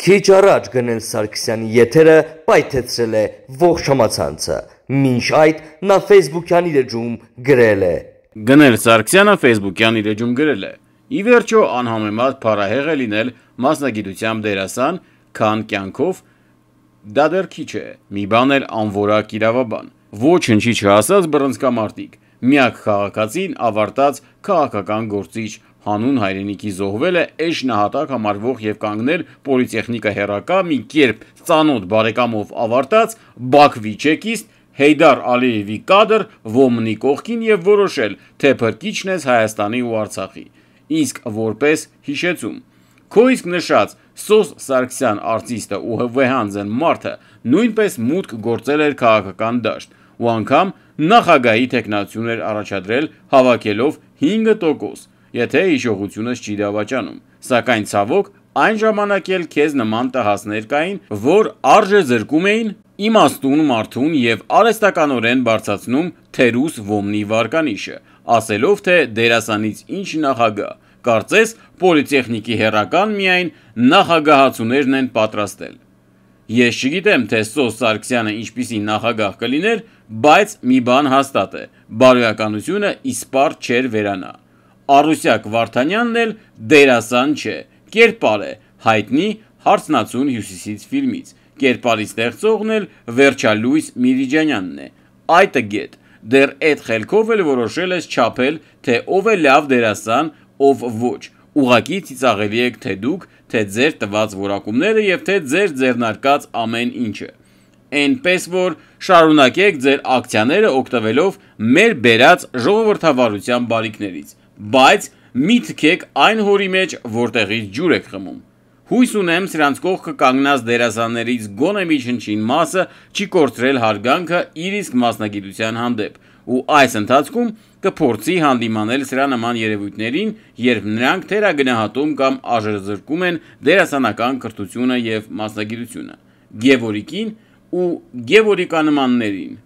Քիչ առաջ Գնել Սարգսյանի եթերը պայթեցրել է ողջ համացանցը, մինչ այդ նա Facebook-յան իր էջում գրել է. Գնել Սարգսյանը Facebook-յան իր էջում գրել է. Ի վերջո անհամեմատ փառահեղ է լինել մասնագիտությամբ դերասան, քան կյանքով դա դեռ քիչ է, մի բան էլ անորակ իրավաբան, ոչնչի չհասած բռնցքամարտիկ, միակ քաղաքացին ավարտած քաղաքական գործիչ, հանուն հայրենիքի զոհվել է էջ նահատակ համարվող և կանգնել պոլիտեխնիկա հեռակա մի կերպ ծանոթ բարեկամով ավարտած Բաքվի չեկիստ Հեյդար Ալիևի կադր ոմնի կողքին և որոշել, թե փրկիչն ես Հայաստանի ու Արցախի, իսկ որպես հիշեցում, քո իսկ նշած Սոս Սարգսյան արտիստը ու վեհանձն մարդը նույնպես մուտք գործել էր քաղաքական դաշտ ու անգամ նախագահի թեկնածություն էր առաջադրել հավաքելով 5%, եթե հիշողությունս չի դավաճանում, սակայն ցավոք այն ժամանակ էլ քեզ նման տհասներ կային, որ արժեզրկում էին իմաստուն մարդուն և արհեստականորեն բարձրացնում թերուս ոմնի վարկանիշը, ասելով թե դերասանից ինչ նախագահ, կարծես պոլիտեխնիկի հեռական միայն նախագահացուներն են պատրաստել։ Ես չգիտեմ, թե Սոս Սարգսյանը ինչպիսի նախագահ կլիներ, բայց մի բան հաստատ է, բարոյականությունը իսպառ չէր վերանա։ Արուսյակ Վարդանյանն էլ դերասան չէ, կերպար է, հայտնի Հարցնացուն հյուսիսից ֆիլմից, կերպարի ստեղծողն էլ վերջալույս Միրիջանյանն է, այդը գետ, դեռ էդ խելքով էլ որոշել ես չափել, թե ով է լավ դերասան, ով ոչ, ուղղակի ծիծաղելի եք թե դուք, թե ձեր տված որակումները և թե ձեր ձեռնարկած ամեն ինչը, էնպես որ շարունակեք ձեր ակցիաները օգտվելով մեր բերած ժողովրդավարության բարիքներից, բայց մի թքեք այն հորի մեջ, որտեղից ջուր եք խմում։ Հույս ունեմ սրանց կողքը կանգնած դերասաններից գոնե միջնչին մասը չի կորցրել հարգանքը իր իսկ մասնագիտության հանդեպ ու այս ընթացքում կփորձի հանդիմանել սրա նման երևույթներին, երբ նրանք թերագնահատում կամ արժեզրկում են դերասանական կրթությունը և մասնագիտությունը, Գևորիկին ու Գևորիկանմաններին։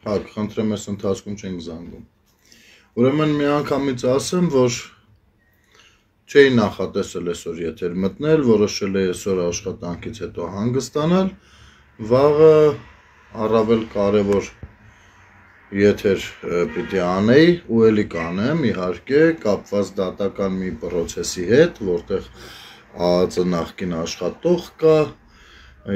Հարկ, խնդրեմ ես ընթացքում չենք զանգում։ Ուրեմն մի անգամից ասեմ, որ չէի նախատեսել այսօր եթեր մտնել, որոշել էի այսօր աշխատանքից հետո հանգստանալ, վաղը առավել կարևոր եթեր պիտի անեի ու էլի կանեմ, իհարկե, կապված դատական մի պրոցեսի հետ, որտեղ ԱԱԾ նախկին աշխատող կա,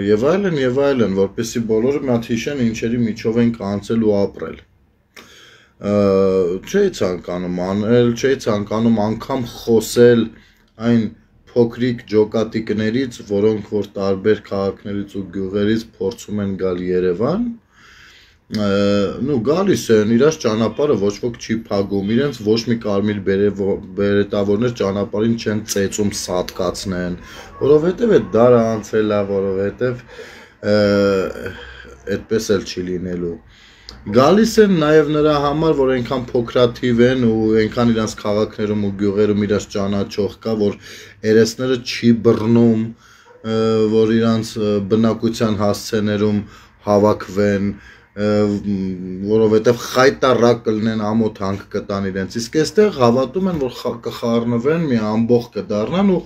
եւ այլն, որպեսզի բոլորը մի հատ հիշեն ինչերի միջով են կանցել ու ապրել։ Չէի ցանկանում անել, չէի ցանկանում անգամ խոսել այն փոքրիկ ջոկատիկներից, որոնք որ տարբեր քաղաքներից ու գյուղերից փորձում են գալ Երևան, գալիս են իրաց ճանապարհը ոչ ոք չի փակում, իրենց ոչ մի կարմիր բերետավորներ ճանապարհին չեն ծեծում սատկացնեն, որովհետև այդ դարը անցել է, որովհետև այդպես էլ չի լինելու։ Գալիս են նաև նրա համար, որ այնքան փոքրաթիվ են ու այնքան իրանց քաղաքներում ու գյուղերում իրաց ճանաչող կա, որ երեսները չի բռնում, որ իրանց բնակության հասցեներում հավաքվեն, որովհետև խայտառակ կլինեն ամոթ հանք կտան իրենց, իսկ այստեղ հավատում են, որ կխառնվեն, մի ամբողջ կդառնան ու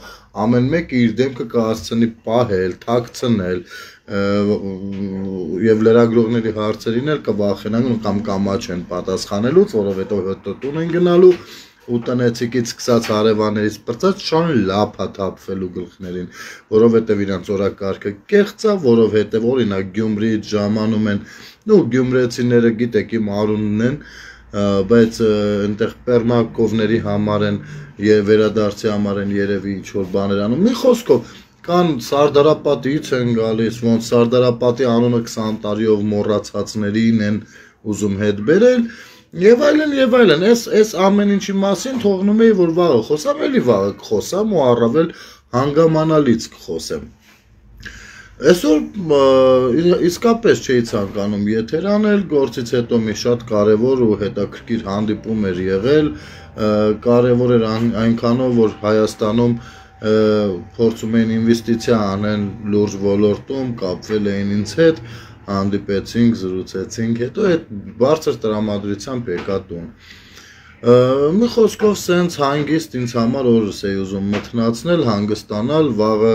ամեն մեկը իր դեմքը կհասցնի պահել, թաքցնել եւ լրագրողների հարցերին էլ կվախենան կամ կամաչեն պատասխանելուց, որովհետև հետո տուն են գնալու ու տնեցիկից սկսած հարևաններից պրծած շան լափա թափվելու գլխներին, որովհետև իրանց օրակարգը կեղծ է, որովհետև օրինակ Գյումրիից ժամանում են, գյումրեցիները գիտեք իմ արունն են, բայց այնտեղ պերմակովների համար են եւ վերադարձի համար են երևի ինչ որ բաներ անում։ Մի խոսքով կան Սարդարապատից են գալիս, ոնց Սարդարապատի անունը 20 տարիով մոռացածներին են ուզում հետ բերել եւ այլն, այս ամեն ինչի մասին թողնում էի որ վաղը խոսամ, էլի վաղը կխոսամ ու առավել հանգամանալից կխոսեմ։ Այսօր իսկապես չէի ցանկանում եթեր անել, գործից հետո մի շատ կարևոր ու հետաքրքիր հանդիպում էր եղել, կարևոր էր այնքանով, որ Հայաստանում փորձում էին ինվեստիցիա անեն լուրջ ոլորտում, կապվել էին ինձ հետ, հանդիպեցինք, զրուցեցինք, հետո այդ բարձր տրամադրությամբ եկա տուն։ Մի խոսքով սենց հանգիստ ինձ համար օրս էի ուզում մթնացնել, հանգստանալ, վաղը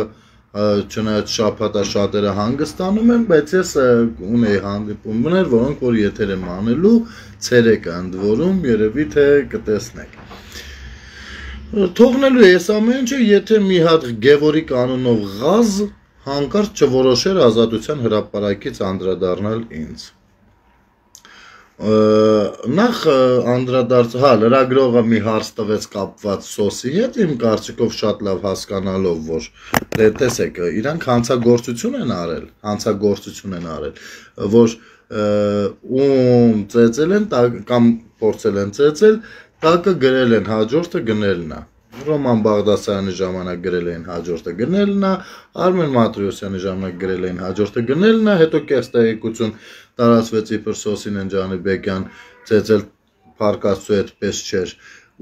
չնայած շաբաթա շատերը հանգստանում են, բայց ես ունեի հանդիպումներ, որոնք որ եթեր եմ անելու, ցերեկը ընդ որում երևի թե կտեսնեք։ Թողնելու ես ամեն ինչը, եթե մի հատ Գևորգ անունով ղազ հանկարծ չորոշեր Ազատության հրապարակից անդրադառնալ ինձ։ Նախ անդրադարձ, լրագրողը մի հարց տվեց կապված սոսի հետ, իմ կարծիքով շատ լավ հասկանալով, որ տեսեք, իրանք հանցագործություն են արել, որ ծեծել են կամ փորձել են ծեծել, տակը գրել են, հաջորդը գնելն է։ Ռոման Բաղդասարյանի ժամանակ գրել էին հաջորդը գնելն է, Արմեն Մատրոսյանի ժամանակ գրել էին հաջորդը գնելն է, հետո կեղծ տեղեկություն տարածվեց իբր Սոսինեն Ջանիբեկյան ծեծել Փարկաստու այդպես չէր,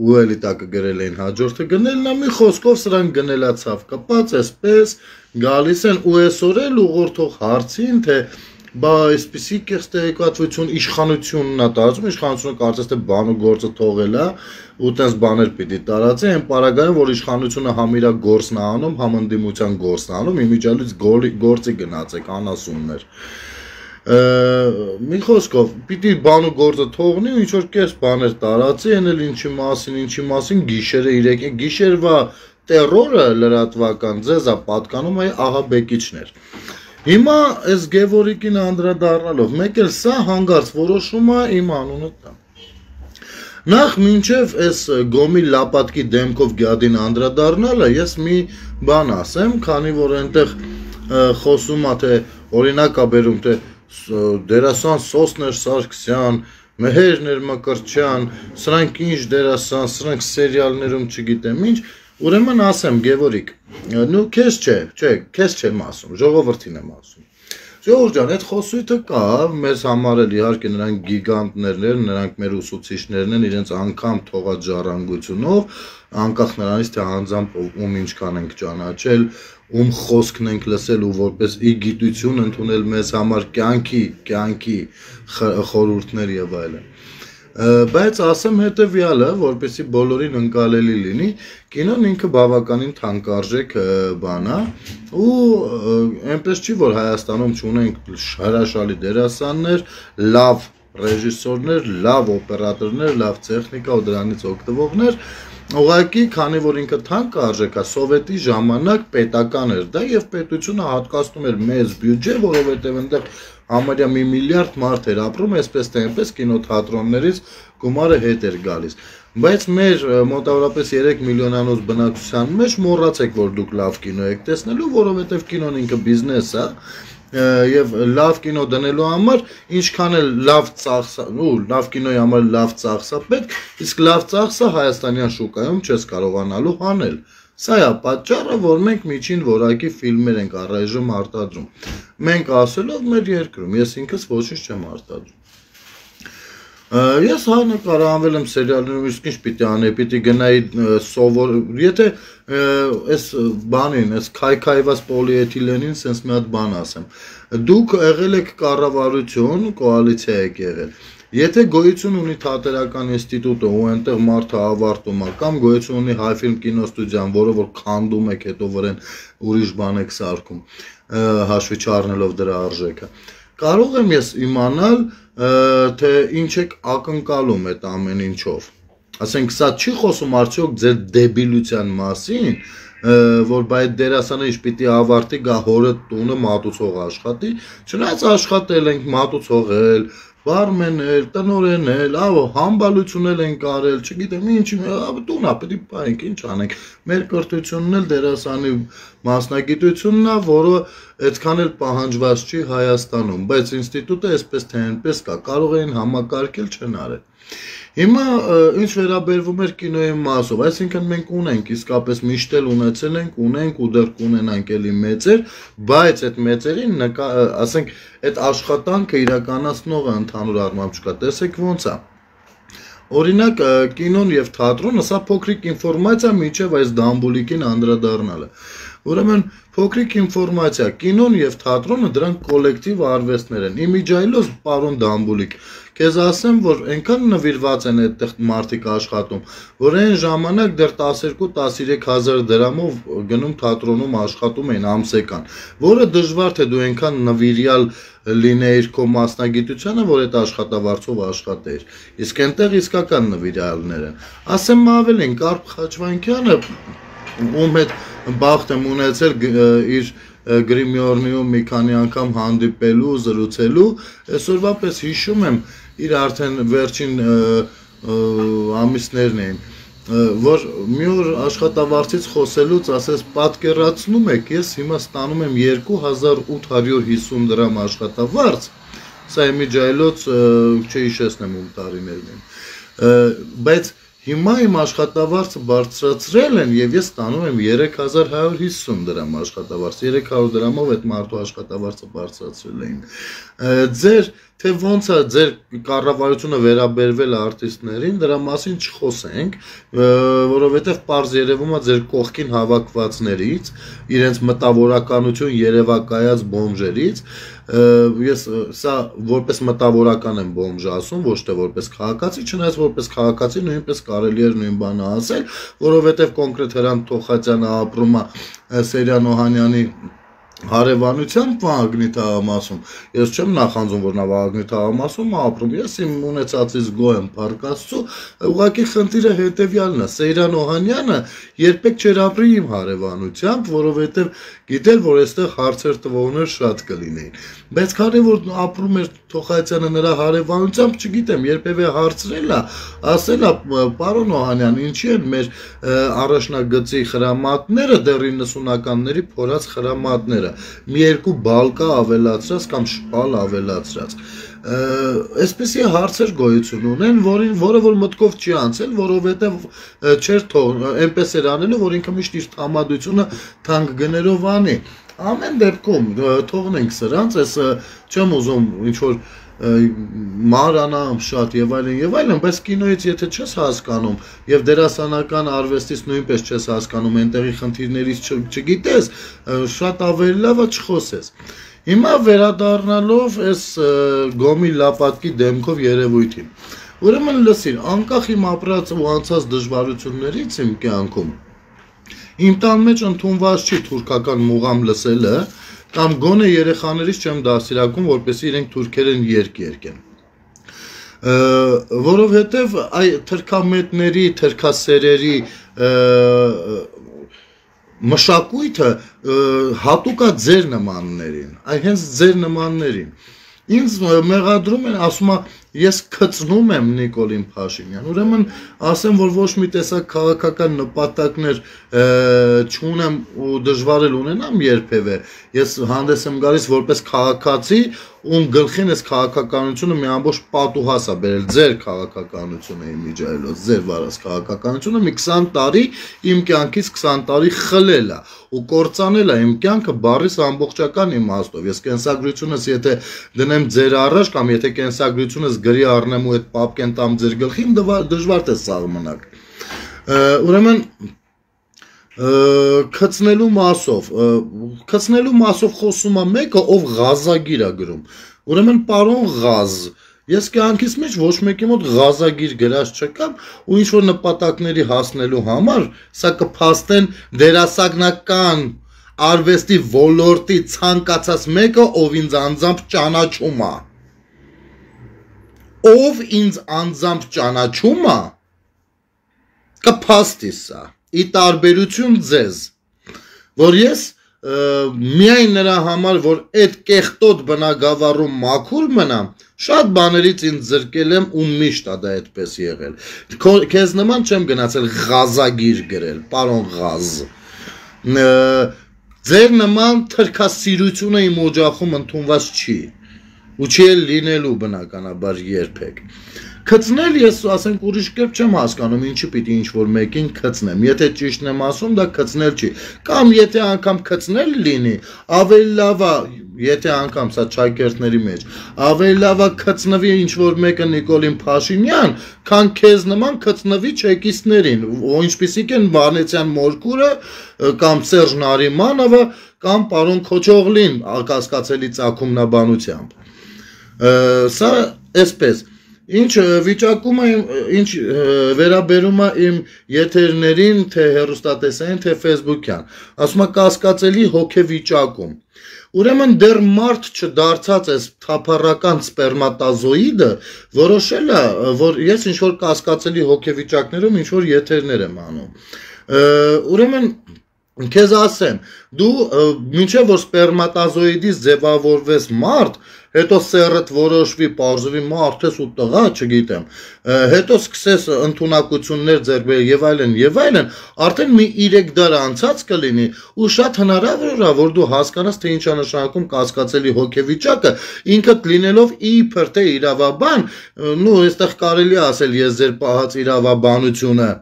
ու էլի տակը գրել էին հաջորդը գնելն է, մի խոսքով սրանք գնելացավ կպած, այսպես գալիս են ու այսօր էլ ուղղորդող հարցին, թե բա այսպիսի կեղծ տեղեկատվություն իշխանությունն է տարածում, իշխանությունը կարծես թե բան ու գործը թողել է, ու տես բաներ պիտի տարածի, այն պարագայում, որ իշխանությունը համ իրա գործն է անում, համ ընդդիմության գործն է անում, իմիջիալից գործի գնացեք, անասուններ։ Մի խոսքով, պիտի բան ու գործը թողնի, ինչ որ կես բաներ տարածի, այն էլ ինչի մասին, գիշերվա տերորը լրատվական ձեզ է պատկանում այ ահաբեկիչներ։ Հիմա այս Գևորգին անդրադառնալով, մեկ էլ սա հանգարց որոշում է իմ անունը տա։ Նախ մինչև այս գոմի լապատկի դեմքով գյադին անդրադառնալը, ես մի բան ասեմ, քանի որ այնտեղ խոսում է, թե օրինակ է բերում, թե դերասան Սոսներ Սարգսյան, Մեհերներ Մկրտչյան, սրանք ինչ դերասան, սրանք սերիալներում չգիտեմ ինչ, ուրեմն ասեմ Գևորգ, նու քեզ չեմ ասում, ժողովրդին եմ ասում։ Ժողովուրդ ջան, այդ խոսույթը կա, մեզ համար էլ իհարկե նրանք գիգանտներն են, նրանք մեր ուսուցիչներն են, իրենց անգամ թողած ժառանգությունով, անկախ նրանից թե անձամբ ում ինչքան ենք ճանաչել, ում խոսքն ենք լսել ու որպես ի գիտություն ընդունել մեզ համար կյանքի խորհուրդներ եւ այլն։ Բայց ասեմ հետևյալը, որպեսզի բոլորին ընկալելի լինի, կինոն ինքը բավականին թանկարժեք բան է, ու այնպես չի, որ Հայաստանում չունենք հրաշալի դերասաններ, լավ ռեժիսորներ, լավ օպերատորներ, լավ տեխնիկա ու դրանից օգտվողներ, ուղղակի քանի որ ինքը թանկարժեք է, սովետի ժամանակ պետական էր դա եւ պետությունը հատկացնում էր մեծ բյուջե, որովհետեւ այնտեղ համարյա մի միլիարդ մարդ էր ապրում, այսպես թե այնպես կինոթատրոններից գումարը հետ էր գալիս։ Բայց մեր մոտավորապես 3 միլիոնանոց բնակչության մեջ մոռացեք, որ դուք լավ կինո եք տեսնելու, որովհետև կինոն ինքը բիզնես է, եւ լավ կինո դնելու համար ինչքան էլ լավ ծախսա, լավ կինոյի համար լավ ծախսա պետք, իսկ լավ ծախսը հայաստանյան շուկայում չես կարողանալու հանել։ Սա է պատճառը, որ մենք միջին որակի ֆիլմեր ենք առայժմ արտադրում։ Մենք ասելով մեր երկրում, ես ինքս ոչինչ չեմ արտադրում։ Ես նկարահանվել եմ սերիալներում, իսկ ինչ պիտի անեի, պիտի գնայի սովոր, եթե այս բանին, այս քայքայված պոլիէթիլենին sense մի հատ բան ասեմ։ Դուք եղել եք կառավարություն, կոալիցիա եք եղել։ Եթե գոյություն ունի թատերական ինստիտուտը ու այնտեղ մարդը ավարտում է, կամ գոյություն ունի Հայֆիլմ կինոստուդիան, որը որ քանդում եք, հետո վրան ուրիշ բան եք սարքում, հաշվի չառնելով դրա արժեքը։ Կարող եմ ես իմանալ, թե ինչ եք ակնկալում այդ ամեն ինչով։ Ասենք, սա չի խոսում արդյոք ձեր դեբիլության մասին, որ բայդ դերասանը ինչ պիտի ավարտի, գա հորը տունը մատուցող աշխատի, չնայած աշխատել ենք, մատուցողել, բարմենել, տնօրենել, համբալություն ենք արել, չգիտեմ ինչ, տունա պետք է պայենք, ինչ անենք։ Մեր կրթությունն էլ դերասանի մասնագիտությունն է, որը այդքան էլ պահանջված չի Հայաստանում, բայց ինստիտուտը այսպես թե այնպես կա, կարող էին համակարգել, չեն արել։ Հիմա ինչ վերաբերվում էր կինոյի մասով, այսինքն մենք ունենք, իսկապես միշտ էլ ունեցել ենք, ունենք ու դեռ կունենանք էլի մեծեր, բայց այդ մեծերին, ասենք, այդ աշխատանքը իրականացնողը ընդհանուր առմամբ չկա, տեսեք ոնց է։ Օրինակ կինոն եւ թատրոնը, սա փոքրիկ ինֆորմացիա միջև այս դամբուլիկին անդրադառնալը։ Ուրեմն փոքրիկ ինֆորմացիա, կինոն եւ թատրոնը դրանք կոլեկտիվ արվեստներ են։ Իմիջայլոս պարոն Դամբուլիկ, քեզ ասեմ, որ այնքան նվիրված են այդտեղ մարդիկ աշխատում, որ այն ժամանակ դեռ 12-13 հազար դրամով գնում թատրոնում աշխատում էին ամսեկան, որը դժվար թե դու այնքան նվիրյալ լինեիր քո մասնագիտությանը, որ այդ աշխատավարձով աշխատեիր։ Իսկ այնտեղ իսկական նվիրյալներ են։ Ասեմ ավելին, Կարպ Խաչվանյանը, ում հետ բախտ եմ ունեցել իր գրիմյորնիում մի քանի անգամ հանդիպելու, զրուցելու, այսօրվա պես հիշում եմ, իր արդեն վերջին ամիսներն էին, որ մի օր աշխատավարձից խոսելուց ասես պատկերացնում եք, ես հիմա ստանում եմ 2850 դրամ աշխատավարձ, սա իմիջայլոց չհիշեցնեմ ում տարիներն են, բայց հիմա իմ աշխատավարձը բարձրացրել են եւ ես ստանում եմ 3150 դրամ աշխատավարձ, 300 դրամով այդ մարդու աշխատավարձը բարձրացրել էին։ Ձեր թե ոնց է ձեր կառավարությունը վերաբերվել արտիստներին, դրա մասին չխոսենք, որովհետև պարզ երևում է ձեր կողքին հավաքվածներից, իրենց մտավորականություն երևակայած բոմժերից, ես սա որպես մտավորական եմ բոմժ ասում, ոչ թե որպես քաղաքացի, չնայած որպես քաղաքացի նույնպես կարելի էր նույն բանը ասել, որովհետև կոնկրետ Հրանտ Թոխացյանը ապրում է Սերյան Օհանյանի հարևանությամբ Վահագնի թաղամասում, ես չեմ նախանձում, որ նա Վահագնի թաղամասում ապրում, ես իմ ունեցածից գոհ եմ Փառք Աստծո, ուղղակի խնդիրը հետևյալն է, Սեյրան Օհանյանը երբեք չէր ապրի իմ հարևանությամբ, որովհետև գիտեր, որ այստեղ հարցեր տվողներ շատ կլինեին, բայց քանի որ ապրում էր Թոխացյանը նրա հարևանությամբ, չգիտեմ, երբևէ հարցրել է, ասել է, պարոն Օհանյան, ինչի են մեր առաջնագծի խրամատները դեռ 90-ականների փորած խրամատները, մի երկու բալկա ավելացրած կամ շպալ ավելացրած, այսպեսի հարցեր գոյություն ունեն, որը որ մտքով չի անցել, որովհետև չէր թող, այնպես էր անելու, որ ինքը միշտ իր տրամադրությունը թանկ գներով անի, ամեն դեպքում թողնենք սրանց, ես չեմ ուզում ինչ-որ մարանամ շատ եւ այլն, բայց կինոից եթե չես հասկանում եւ դերասանական արվեստից նույնպես չես հասկանում, այնտեղի խնդիրներից չգիտես, շատ ավելի լավ է չխոսես։ Հիմա վերադառնալով այս Գոմի Լապատկի դեմքով երևույթին։ Ուրեմն լսիր, անկախ իմ ապրած ու անցած դժվարություններից իմ կյանքում, իմ տան մեջ ընդունված չի թուրքական մուղամ լսելը, կամ գոնե երեխաներից չեմ դասիրակում, որպեսզի իրենք թուրքերեն երգ երգեն։ Որովհետև այ թրքամետների, թրքասերերի մշակույթը հատուկ է ձեր նմաններին, այ հենց ձեր նմաններին։ Ինձ մեղադրում են, ասում է, ես քծնում եմ Նիկոլին Փաշինյան, ուրեմն ասեմ, որ ոչ մի տեսակ քաղաքական նպատակներ չունեմ ու դժվար էլ ունենամ երբևէ, ես հանդես եմ գալիս որպես քաղաքացի, ում գլխին այս քաղաքականությունը մի ամբողջ պատուհաս է բերել, ձեր քաղաքականությունը իմիջայլոց, ձեր վարած քաղաքականությունը մի 20 տարի իմ կյանքից 20 տարի խլել է ու կործանել է իմ կյանքը բառիս ամբողջական իմաստով, ես կենսագրությունս եթե դնեմ ձեր առաջ կամ եթե կենսագրությունս գրի առնեմ ու այդ պապկեն տամ ձեր գլխին, դժվար թե սաղմնակ, ուրեմն քծնելու մասով խոսում է մեկը, ով ղազագիր է գրում, ուրեմն պարոն Ղազ, ես կյանքիս մեջ ոչ մեկի մոտ ղազագիր գրած չկամ ու ինչ-որ նպատակների հասնելու համար, սա կփաստեն դերասանական արվեստի ոլորտի ցանկացած մեկը, ով ինձ անձամբ ճանաչում է, ով ինձ անձամբ ճանաչում է, կփաստի սա, ի տարբերություն ձեզ, որ ես միայն նրա համար, որ այդ կեղտոտ բնագավառում մաքուր մնամ, շատ բաներից ինձ զրկել եմ ու միշտ է դա այդպես եղել, քեզ նման չեմ գնացել ղազագիր գրել, պարոն Ղազ, ձեր նման թրքասիրությունը իմ օջախում ընդունված չի, ու չի էլ լինելու բնականաբար երբեք, քծնել ես ասենք ուրիշ կերպ չեմ հասկանում ինչի պիտի ինչ-որ մեկին քծնեմ, եթե ճիշտն եմ ասում դա քծնել չի, կամ եթե անգամ քծնել լինի, ավելի լավ է եթե անգամ սա ճակերտների մեջ ավելի լավ է քծնվի ինչ որ մեկը Նիկոլին Փաշինյան, քան քեզ նման քծնվի չեկիստներին, ինչպիսիք են Վանեցյան Մորկուրը կամ Սերժ Նարիմանովը կամ պարոն Քոչողլին կասկածելի ծագումնաբանությամբ։ Սա այսպես Ինչ վիճակում է, ինչ վերաբերում է իմ եթերներին, թե հեռուստատեսային, թե Facebook-յան, ասում է կասկածելի հոգեվիճակում։ Ուրեմն դեռ մարդ չդարձած այս թափառական սպերմատազոիդը որոշել է, որ ես ինչ որ կասկածելի հոգեվիճակներում ինչ որ եթերներ եմ անում։ Ուրեմն Քեզ ասեմ, դու մինչև որ սպերմատազոիդից ձևավորվես մարդ, հետո սեռդ որոշվի, պարզվի մարդ ես ու տղա, չգիտեմ, հետո սկսես ընդունակություններ ձեռք բերել եւ այլն, արդեն մի 3 դար անցած կլինի ու շատ հնարավոր է, որ դու հասկանաս, թե ինչ է նշանակում կասկածելի հոգեվիճակը, ինքդ լինելով իբր թե իրավաբան, նու այստեղ կարելի է ասել ես ձեր պահած իրավաբանությունը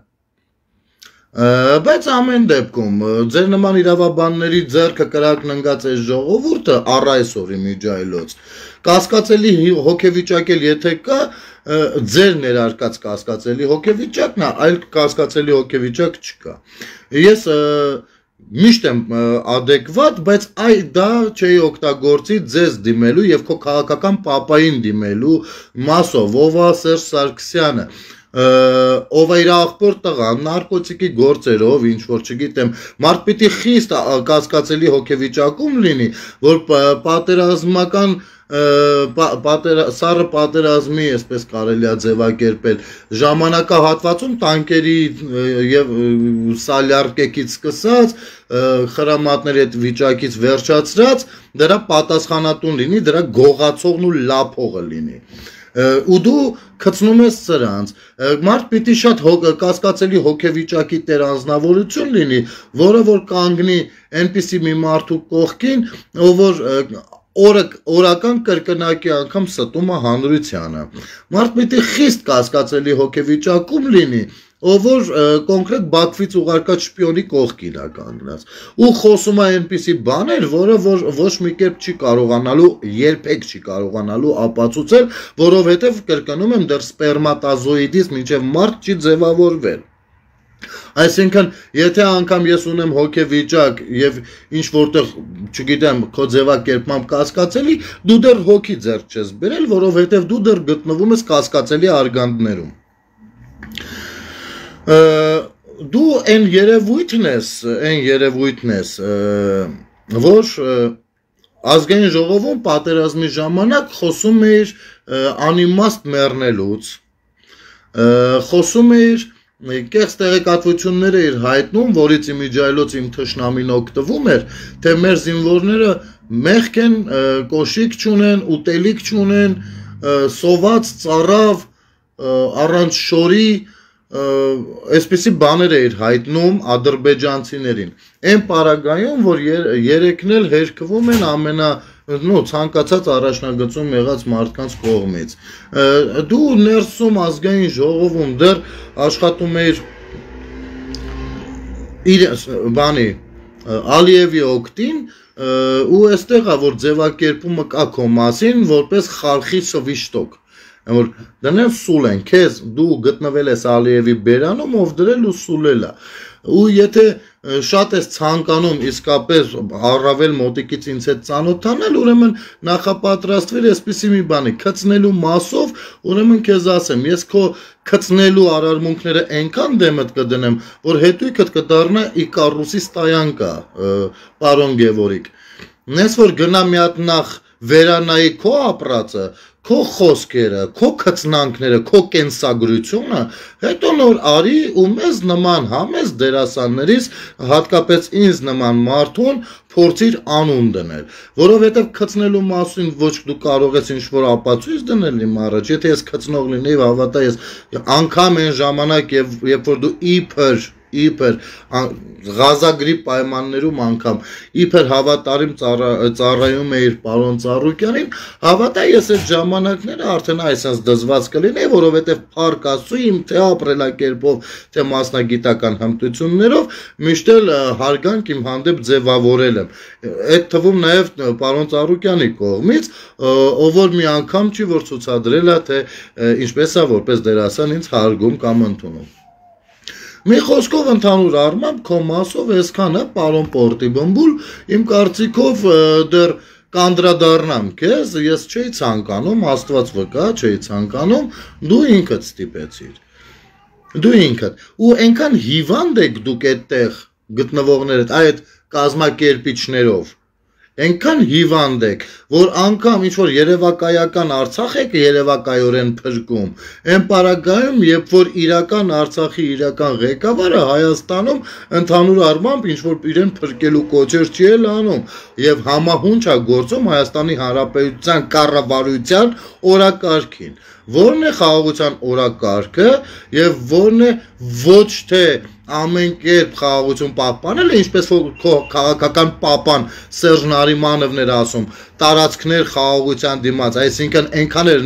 Բայց ամեն դեպքում ձեր նման իրավաբանների ձեռքը կրակն ընկած այս ժողովուրդը առ այսօր իմիջայլոց կասկածելի հոգեվիճակել եթե կա ձեր ներարկած կասկածելի հոգեվիճակն է, այլ կասկածելի հոգեվիճակ չկա։ Ես միշտ եմ adekvat, բայց դա չէի օգտագործի ձեզ դիմելու եւ քո քաղաքական պապային դիմելու մասով, ով է Սերժ Սարգսյանը ով է իր աղբոր տղա, նարկոտիկի գործերով, ինչ որ չգիտեմ, մարդ պիտի խիստ կասկածելի հոգեվիճակում լինի, որ պատերազմական սառը պատերազմի, այսպես կարելի է ձևակերպել, ժամանակահատվածում տանկերի եւ սալյարկեկից սկսած, խրամատների այդ վիճակից վերջացրած, դրա պատասխանատուն լինի, դրա գողացողն ու լափողը լինի։ Ու դու քծնում ես սրանց, մարդ պիտի շատ կասկածելի հոգեվիճակի տեր անձնավորություն լինի, որը որ կանգնի այնպիսի մի մարդու կողքին, ով որ օրական կրկնակի անգամ ստում է հանրությանը։ Մարդ պիտի խիստ կասկածելի հոգեվիճակում լինի, ով որ կոնկրետ Բաքվից ուղարկած շպիոնի կողքին է կանգնած ու խոսում է այնպիսի բաներ, որը ոչ մի կերպ չի կարողանալու, երբեք չի կարողանալու ապացուցել, որովհետև կրկնում եմ դեռ սպերմատազոիդից մինչև մարդ չի ձևավորվել։ Այսինքն, եթե անգամ ես ունեմ հոգեվիճակ եւ ինչ որտեղ, չգիտեմ, քո ձևակերպմամբ կասկածելի, դու դեռ հոգի ձեռք չես բերել, որովհետև դու դեռ գտնվում ես կասկածելի արգանդներում։ Դու այն երևույթն ես, որ ազգային ժողովում պատերազմի ժամանակ խոսում էիր անիմաստ մեռնելուց, խոսում էիր կեղծ տեղեկատվություններ էիր հայտնում, որից իմիջայլոց իմ թշնամին օգտվում էր, թե մեր զինվորները մեղք են, կոշիկ չունեն, ուտելիք չունեն, սոված, ծառավ, առանց շորի Այսպիսի բաներ էիր հայտնում ադրբեջանցիներին Այն պարագայում, որ երեքն էլ հերկվում են ցանկացած առաջնագծում եղած մարդկանց կողմից Դու ներսում ազգային ժողովում դեռ աշխատում էիր Ալիևի օգտին ու այստեղ է, որ ձևակերպումը կա քո մասին, որպես խալխի շվիշտոկ Դնել սուլ են, քեզ դու գտնվել ես Ալիևի բերանում, ով դրել ու սուլել է Ու եթե շատ ես ցանկանում իսկապես առավել մոտիկից ինձ հետ ծանոթանալ, ուրեմն նախապատրաստվել այսպիսի մի բանի, քծնելու մասով, ուրեմն քեզ ասեմ, ես քո քծնելու արարմունքները այնքան դեմդ կդնեմ, որ հետույքդ կդառնա Իկարուսի ստայանկա, պարոն Գևորիկ Նես որ գնա մի հատ նախ վերանայի քո ապրածը, քո խոսքերը, քո քծնանքները, քո կենսագրությունը, հետո նոր արի ու մեզ նման համես դերասաններից, հատկապես ինձ նման մարդուն փորձիր անուն դնել, որովհետև քծնելու մասին ոչ դու կարող ես ինչ-որ ապացույց դնել իմ առաջ, եթե ես քծնող լինեի, հավատա ես անգամ այն ժամանակ, երբ որ դու իբր իբր Ղազագրի պայմաններում անգամ իբր հավատարիմ ծառայում էիր պարոն Ծառուկյանին, հավատա ես այդ ժամանակները արդեն այսպես դզված կլինեի, որովհետև փառք Աստծո իմ թե ապրելակերպով, թե մասնագիտական հմտություններով միշտ էլ հարգանք իմ հանդեպ ձևավորել եմ։ Այդ թվում նաև պարոն Ծառուկյանի կողմից, ով որ մի անգամ չի որ ցուցադրել է, թե ինչպես է որպես դերասան ինձ հարգում կամ ընդունում։ Մի խոսքով ընդհանուր առմամբ քո մասով այսքանը պարոն Պորտիբմբուլ իմ կարծիքով դեռ կանդրադառնամ քեզ, ես չէի ցանկանում, Աստված վկա, չէի ցանկանում, դու ինքդ ստիպեցիր։ Դու ինքդ ու այնքան հիվանդ եք դուք այդտեղ գտնվողներդ այդ կազմակերպիչներով Այնքան հիվանդ եք, որ անգամ ինչ-որ երևակայական Արցախ եք երևակայորեն փրկում, այն պարագայում, երբ որ իրական Արցախի իրական ղեկավարը Հայաստանում ընդհանուր առմամբ ինչ-որ իրեն փրկելու կոչեր չի էլ անում եւ համահունչ է գործում Հայաստանի Հանրապետության կառավարության օրակարգին։ Որն է խաղաղության օրակարգը եւ որն է ոչ թե ամեն կերպ խաղաղություն պահպանելը, ինչպես որ քաղաքական պապան Սերժ Նարիմանովն էր ասում, տարածքներ խաղաղության դիմաց, այսինքն այնքան էր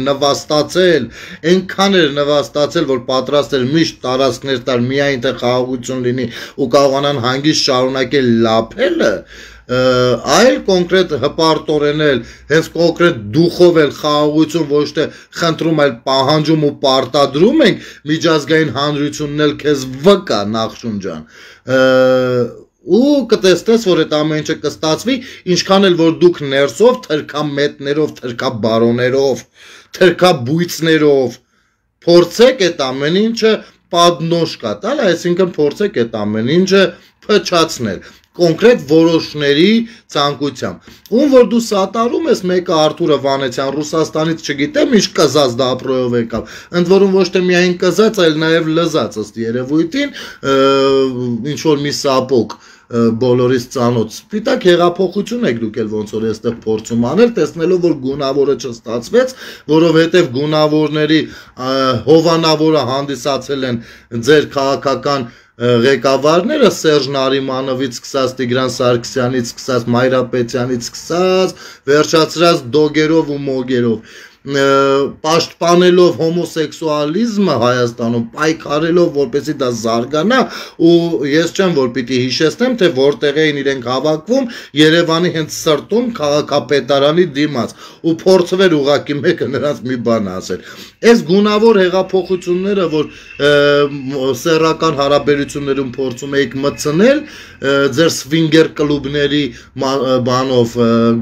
նվաստացել, որ պատրաստ էր միշտ տարածքներ տալ, միայն թե խաղաղություն լինի ու կարողանան հանգիստ շարունակել լափելը, այլ կոնկրետ հպարտորեն էլ, հենց կոնկրետ դուխով էլ խաղաղություն ոչ թե խնդրում, այլ պահանջում ու պարտադրում ենք միջազգային հանրությունն էլ քեզ վկա Նախշուն ջան, ու կտեսնես, որ այդ ամեն ինչը կստացվի, ինչքան էլ որ դուք ներսով, թրքամետներով, թրքաբարոներով, թրքաբույծներով փորձեք այդ ամեն ինչը պատնոշկա տալ, այսինքն փորձեք այդ ամեն ինչը փչացնել կոնկրետ որոշների ցանկությամբ։ Ում որ դու սատարում ես, մեկը Արթուրը Վանեցյան Ռուսաստանից չգիտեմ, ինչ կզած դապրոյով եկավ։ Ընդ որում ոչ թե միայն կզած, այլ նաև լզած ըստ երևույթին, ինչ որ մի սապոկ բոլորից ծանոթ սպիտակ հեղափոխություն եք դուք էլ ոնց որ այստեղ փորձում անել, տեսնելով որ գունավորը չստացվեց, որովհետև գունավորների հովանավորը հանդիսացել են ձեր քաղաքական ղեկավարները Սերժ Նարիմանովից սկսած Տիգրան Սարգսյանից սկսած Մայրապետյանից սկսած վերջացրած դոգերով ու մոգերով պաշտպանելով հոմոսեքսուալիզմը Հայաստանում, պայքարելով որպեսզի դա զարգանա ու ես չեմ որ պիտի հիշեցնեմ թե որտեղ էին իրենք հավաքվում Երևանի հենց սրտում քաղաքապետարանի դիմաց ու փորձվեր ուղակի մեկը նրանց մի բան ասել։ Այս գունավոր հեղափոխությունները որ սեռական հարաբերություններում փորձում եք մտցնել ձեր սվինգեր կլուբների բանով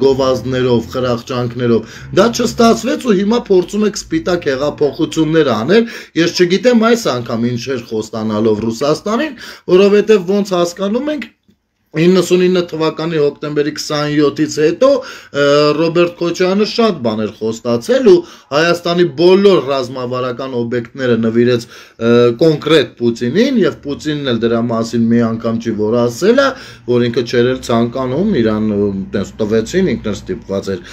գովազդներով, խրախճանքներով, դա չստացվեց ու հիմա փորձում եք սպիտակ հեղափոխություններ անել, ես չգիտեմ այս անգամ ինչեր խոստանալով Ռուսաստանին, որովհետև ոնց հասկանում ենք 99 թվականի հոկտեմբերի 27-ից հետո Ռոբերտ Քոչարյանը շատ բաներ խոստացել ու Հայաստանի բոլոր ռազմավարական օբյեկտները նվիրեց կոնկրետ Պուտինին եւ Պուտինն էլ դրա մասին մի անգամ չի որ ասել է, որ ինքը չէր ցանկանում իրան տես տվեցին, ինքն էլ ստիպված էր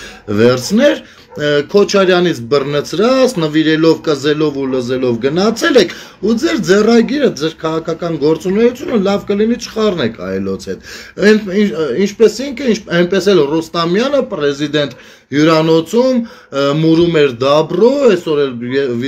վերցներ Քոչարյանից բռնցրած, նվիրելով, կզելով ու լզելով գնացել եք ու ձեր ձեռագիրը, ձեր քաղաքական գործունեությունը լավ կլինի չխառնեք այլոց հետ։ Ինչպես ինքը, այնպես էլ Ռոստամյանը պրեզիդենտ հյուրանոցում մուրում էր դաբրո, այսօր էլ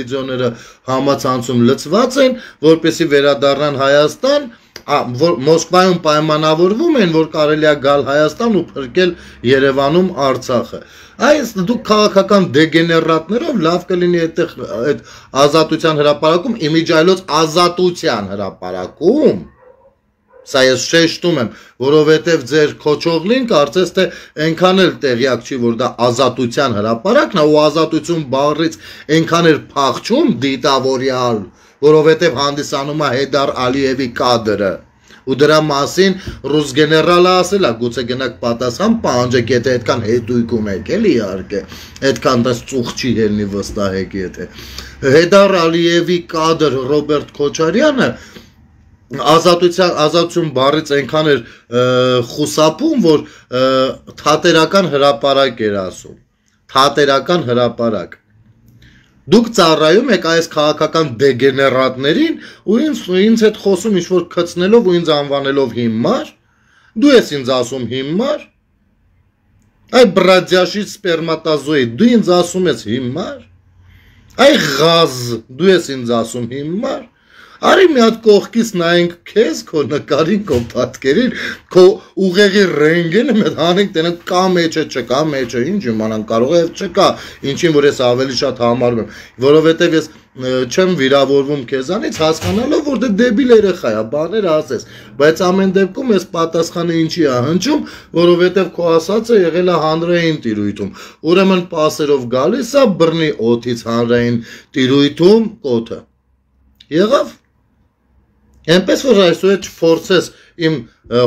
վիդեոները համացանցում լծված են, որպեսզի վերադառնան Հայաստան, Մոսկվայում պայմանավորվում են, որ կարելի է գալ Հայաստան ու փրկել Երևանում Արցախը։ Այս դուք քաղաքական դեգեներատներով լավ կլինի այդ ազատության հրապարակում, իմիջայլոց ազատության հրապարակում, սա ես շեշտում եմ, որովհետև ձեր քոչողլին կարծես թե այնքան էլ տեղյակ չի, որ դա ազատության հրապարակն է ու ազատություն բառից այնքան էլ փախչում դիտավորյալ, որովհետև հանդիսանում է Հեյդար Ալիևի կադրը ու դրա մասին ռուս գեներալը ասել է գուցե գնաք պատասխան պահանջեք եթե այդքան հետույք ունեք էլի իհարկե այդքան դες ծուխ չի ելնի վստահեք եթե Հեյդար Ալիևի կադր Ռոբերտ Քոչարյանը ազատություն բառից այնքան էր խուսափում որ թատերական հրապարակ էր ասում թատերական հրապարակ Դուք ծառայում եք այս քաղաքական դեգեներատներին ու ինձ հետ խոսում ինչ-որ քծնելով ու ինձ անվանելով հիմար, դու ես ինձ ասում հիմար, այ բրադյաշի սպերմատազոիդ, դու ինձ ասում ես հիմար, այ ғազ, դու ես ինձ ասում հիմար, արի մի հատ կողքից նայենք քեզ, քո նկարին, քո պատկերին, քո ուղեղի ռենտգենը մենք հանենք տենանք կա մեջ է, չկա մեջ է, ինչ իմանանք կարող է չկա, ինչին որ ես ավելի շատ համարում եմ, որովհետև ես չեմ վիրավորվում քեզանից հասկանալով որ դե դեբիլ երեխա է, բաներ ասես, բայց ամեն դեպքում ես պատասխանը ինչի է հնչում, որովհետև քո ասածը եղել է հանրային տիրույթում, ուրեմն պասերով գալիս է բռնի օդից հանրային տիրույթում կոթը, եղավ, այնպես որ այսօր չփորձես իմ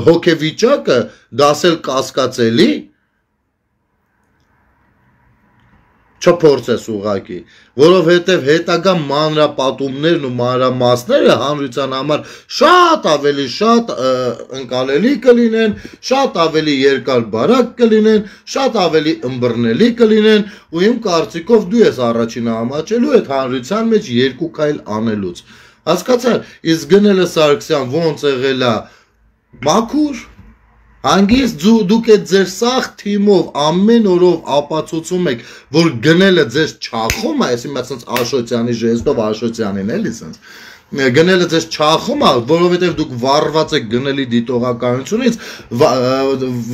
հոգեվիճակը դասել կասկածելի, չփորձես ուղակի, որովհետև հետագա մանրապատումներն ու մանրամասները հանրության համար շատ ավելի շատ ընկալելի կլինեն, շատ ավելի երկար բարակ կլինեն, շատ ավելի ըմբռնելի կլինեն ու իմ կարծիքով դու ես առաջինը համաչելու այդ հանրության մեջ երկու քայլ անելուց։ Հասկացա՞ր, իսկ Գնելը Սարգսյան ոնց եղել է մաքուր Հանգիստ դուք եք ձեր սաղ թիմով ամեն օրով ապացուցում եք, որ Գնելը ձեզ չախում է, այսինքն Աշոտյանի ժեստով Աշոտյանին էլի սենց, Գնելը ձեզ չախում է, որովհետև դուք վառված եք Գնելի դիտողականությունից,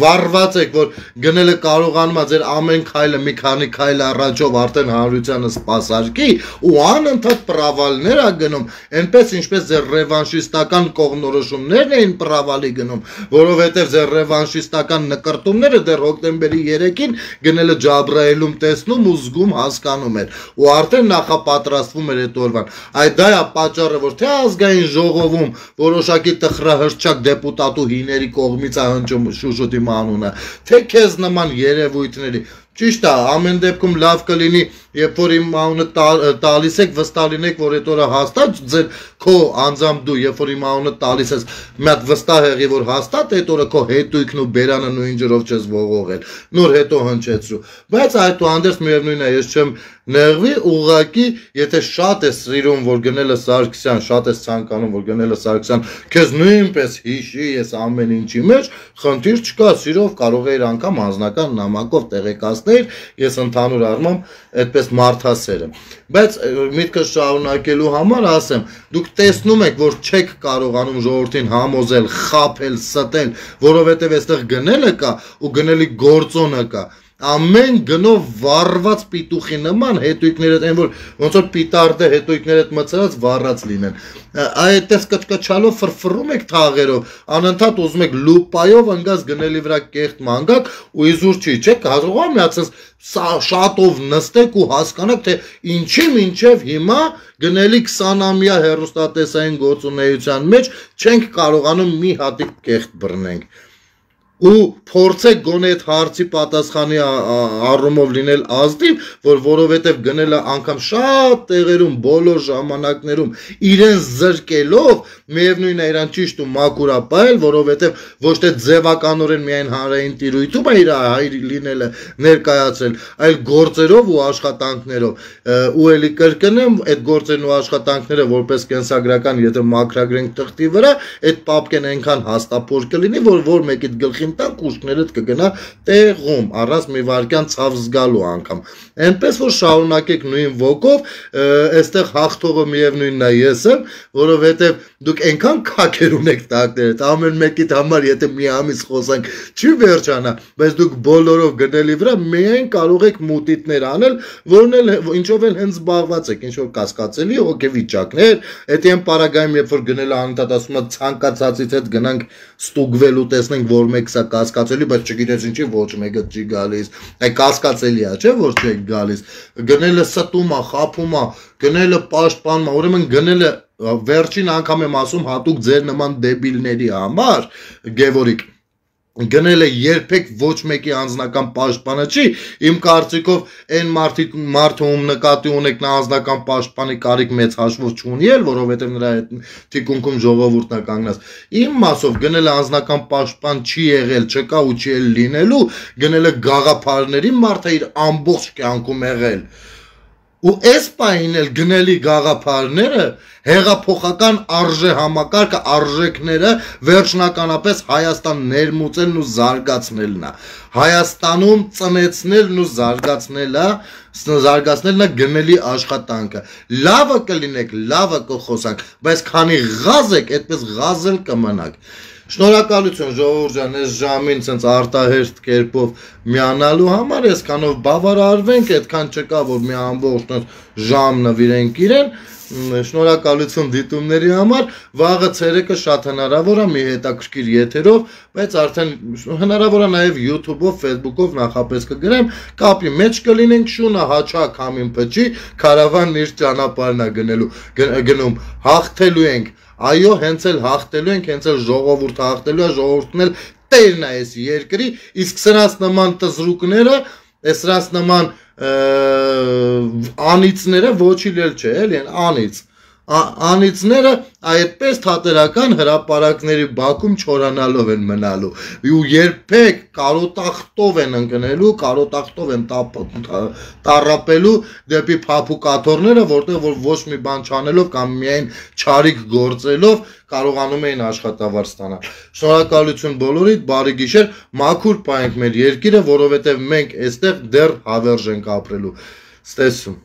վառված եք, որ Գնելը կարողանում է ձեր ամեն քայլը մի քանի քայլ առաջով արդեն հանրությանը սպասարկի ու անընդհատ պրավալներ է գնում, այնպես ինչպես ձեր ռևանշիստական կողմնորոշումներն էին պրավալի գնում, որովհետև ձեր ռևանշիստական նկրտումները դեռ հոկտեմբերի 3-ին Գնելը Ջաբրայելում տեսնում ու զգում հասկանում էր ու արդեն նախապատրաստվում էր այդ օրվան, այդ դա է պատճառը որ թե ազգային ժողովում որոշակի տխրահրճակ դեպուտատուհիների կողմից է հնչում Շուշուտի անունը, թե քեզ նման երևույթների, ճիշտ է, ամեն դեպքում լավ կլինի, երբ որ իմ անունը տալիս եք, վստահ լինեք, որ այդ օրը հաստատ ձեր քո անձամբ դու, երբ որ իմ անունը տալիս ես, մի հատ վստահ եղի, որ հաստատ այդ օրը քո հետույքն ու բերանը նույն ջրով չես ողողել, նոր հետո հնչեցրու, բայց այդուհանդերձ միևնույն է, ես չեմ նեղվի, ուղղակի, եթե շատ ես սիրում, որ Գնելը Սարգսյան, շատ ես ցանկանում, որ Գնելը Սարգսյան քեզ նույնպես հիշի, ես ամեն ինչի մեջ, խնդիր չկա, սիրով կարող էիր անգամ անձնական նամակով տեղեկացնել, ես ընդհանուր առմամբ այդպես մարդասեր եմ, բայց միտքս շարունակելու համար ասեմ, դուք տեսնում եք, որ չեք կարողանում ժողովրդին համոզել, խաբել, ստել, որովհետև այստեղ Գնելը կա ու Գնելի գործոնը կա, ամեն գնով վառված պիտուխի նման հետույքներդ, այն որ ոնց որ պիտարդը հետույքներդ մցրած վառած լինեն, այդպես կչկչալով ֆրֆռում եք թաղերով, անընդհատ ուզում եք լուպայով ընկած Գնելի վրա կեղտ մանգակ ու իզուր չի, չեք կարող միացած շատով նստեք ու հասկանաք, թե ինչի մինչև հիմա Գնելի 20-ամյա հեռուստատեսային գործունեության մեջ չենք կարողանում մի հատիկ կեղտ բռնենք ու փորձեք գոնե այդ հարցի պատասխանի առումով լինել ազնիվ, որ որովհետև Գնելը անգամ շատ տեղերում, բոլոր ժամանակներում իրեն զրկելով, միևնույն է իրան ճիշտ ու մաքուր է պահել, որովհետև ոչ թե ձևականորեն միայն հանրային տիրույթում է իր հայր լինելը ներկայացել, այլ գործերով ու աշխատանքներով, ու էլի կրկնեմ, այդ գործերն ու աշխատանքները որպես կենսագրական, եթե մաքրագրենք թղթի վրա, այդ պապկեն այնքան հաստափոր կլինի, որ մեկիդ գլխին տանք ուշքներդ կգնա տեղում, առանց մի վարքյան ցավ զգալու անգամ, այնպես որ շարունակեք նույն ոգով, այստեղ հաղթողը միևնույնն է ես եմ, որովհետև դուք այնքան քաքեր ունեք տակներդ, ամեն մեկիդ համար եթե մի ամիս խոսանք չի վերջանա, բայց դուք բոլորով Գնելի վրա միայն կարող եք մուտիտներ անել, որն էլ ինչով էլ հենց զբաղված եք, ինչ որ կասկածելի հոգեվիճակներ, այդ այն պարագայում, երբ որ Գնելը անընդհատ ասում է ցանկացածից հետ գնանք ստուգվելու տեսնենք, որ մեկ սա կասկածելի, բայց չգիտես ինչի ոչ մեկը չի գալիս, այ կասկածելի է, չէ՞ որ չեք գալիս, Գնելը ստում է, խափում է, Գնելը պաշտպանում է, ուրեմն Գնելը վերջին անգամ եմ ասում հատուկ ձեր նման դեբիլների համար, Գևորիկ, Գնելը երբեք ոչ մեկի անձնական պաշտպանը չի, իմ կարծիքով այն մարդը ում նկատի ունեք նա անձնական պաշտպանի կարիք մեծ հաշվով չունի էլ, որովհետև նրա այդ թիկունքում ժողովուրդն է կանգնած, իմ մասով Գնելը անձնական պաշտպան չի եղել, չկա ու չի էլ լինելու, Գնելը գաղափարների մարդ է իր ամբողջ կյանքում եղել, ու այս պահին էլ գնելի գաղափարները հեղափոխական արժե համակարգը արժեքները վերջնականապես Հայաստան ներմուծելն ու զարգացնելն է Հայաստանում ծնեցնելն ու զարգացնելն է գնելի աշխատանքը լավը կլինեք լավը կխոսանք բայց քանի ղազ եք այդպես ղազել կմնաք Շնորհակալություն ժողովուրդ ջան, այս ժամին ցենց արտահերթ կերպով միանալու համար, այսքանով բավարարվենք, այդքան չկա, որ մի ամբողջ ժամ նվիրենք իրեն, շնորհակալություն դիտումների համար, վաղը ցերեկը շատ հնարավոր է մի հետաքրքիր եթերով, բայց արդեն հնարավոր է նաև YouTube-ով, Facebook-ով նախապես կգրեմ, կապի մեջ կլինենք, շունը հաչակ համին փչի, կարավանն իր ճանապարհն է գնում, հաղթելու ենք Այո, հենց էլ հաղթելու ենք, հենց էլ ժողովուրդը հաղթելու է, ժողովուրդն էլ տերն է այս երկրի, իսկ սրանց նման տզրուկները, սրանց նման անիծները ոչինչ էլ չէ, էլի, անիծները այդպես թատերական հրապարակների բակում չորանալով են մնալու ու երբեք կարոտախտով են ընկնելու, կարոտախտով են տառապելու դեպի փափուկաթոռները, որտեղ որ ոչ մի բան չանելով կամ միայն չարիք գործելով կարողանում էին աշխատավարձ ստանալ։ Շնորհակալություն բոլորիդ, բարի գիշեր, մաքուր պահենք մեր երկիրը, որովհետև մենք այստեղ դեռ հավերժ ենք ապրելու։ Ստեսում